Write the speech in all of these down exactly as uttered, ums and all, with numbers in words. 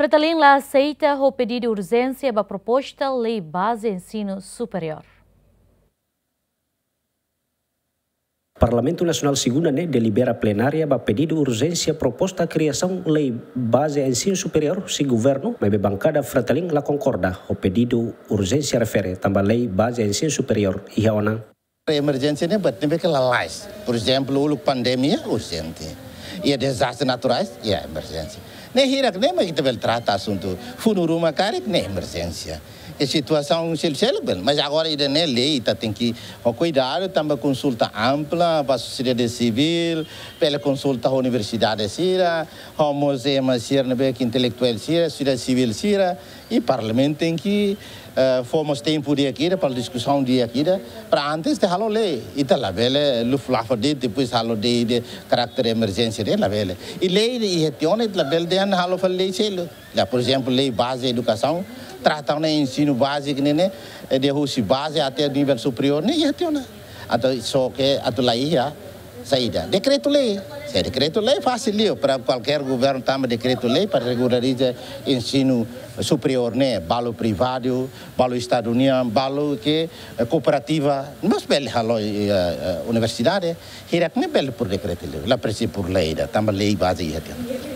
Fretilin la aseita ho pedidu urjénsia ba proposta lei baze ensinu superiór. Parlamentu Nasionál Segunda ne'e delibera plenária ba pedidu urjénsia proposta kriasaun lei baze ensinu superiór husi governu, maibé bankada Fretilin la konkorda ho pedidu urjénsia refere tanba lei baze ensinu superiór iha ona. Emerjénsia ne'e buat ne'ebé ke lalais. Por ezemplu, uluk pandemia, urjente. Iha dezastre naturais, iha emerjénsia. Ne'e hirak ne'e mak ita bele trata asuntu funu ruma karik ne'e emerjénsia. E situasaun seluk-seluk bele. Mas agora ida-ne'e lei ita tenke ho kuidadu tanba konsulta ampla ba sosiedade sivíl, bele konsulta ho universidade sira, ho mós ema sira ne'ebé ke intelektuál sira, sosiedade sivíl sira, i parlamentu tenke, eh, fó mós tempu di'ak ida, para diskusaun di'ak ida, para antes de halo lei. Ita labele lufa-lufa de'it, depois halo lei de karáter emerjénsia de'it, labele. I lei ida iha tiha ona, ita labele dehan halo fali lei seluk. Ya, por ezemplu, lei baze edukasaun, trata ona ensinu báziku ne'e, ne'e, eh, de husi baze até nivel superiór, ne'e iha tiha ona. Entaun, só ke atu la iha saida? Dekretu-lei. Se dekretu-lei fasil liu para kualkér governu tama dekretu-lei para regulariza ensinu superiór ne'e, balu privadu, balu estadu nian, balu ke, eh, kooperativa. Mós bele halo, eh, eh, universidade, hirak ne'e bele por dekretu-lei, la presiza por lei ida, tanba lei baze iha tiha ona.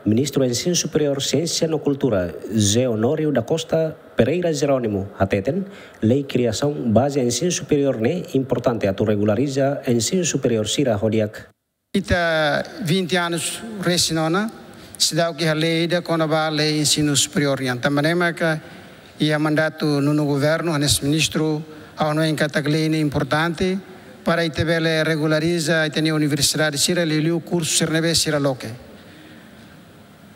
Ministru Ensinu Superiór, Siénsia no Kultura, José Honório da Costa Pereira Jerónimo, hateten, lei kriasaun baze ensinu superiór ne'e importante atu regulariza ensinu superiór sira ho di'ak. Ita vinte anos resin ona, seidauk iha lei ida kona-ba lei ensinu superiór nian. Tanba ne'e maka iha mandatu nonu governu, hanesan ministru, ha'u hanoin katak lei ne'e importante para ita bele regulariza ita-nia universidade sira, liuliu kursu sira ne'ebé sira loke.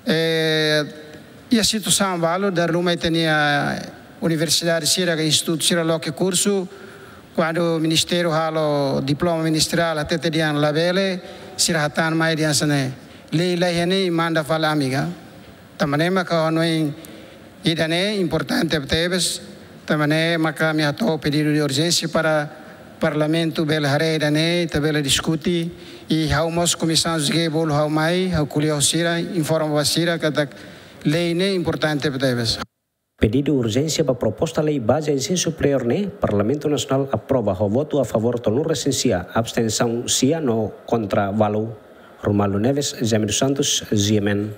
Eh, iha situasaun balu, dala ruma ita-nia universidade sira, ka institutu sira loke kursu, kuandu ministériu halo diploma ministeriál, hatete dehan labele, sira hatán mai dehan hanesan ne'e, lei la iha ne'e, manda fali ami ka. Tanba ne'e maka ha'u hanoin ida-ne'e importante tebes, tanba ne'e maka ami hato'o pedidu de urjénsia para parlamentu bele haree ida-ne'e, ita bele diskute, i ha'u mós komisaun G bolu ha'u mai, ha'u ko'alia ho sira, informa ba sira katak lei ne'e importante tebes. Pedidu urjénsia ba proposta lei baze ensinu superiór ne'e, Parlamentu Nasionál aprova ho votu a favór tolunulu-resin-sia, abstensaun sia no kontra ualu. Romualdo Neves, Jaime dos Santos, G M N.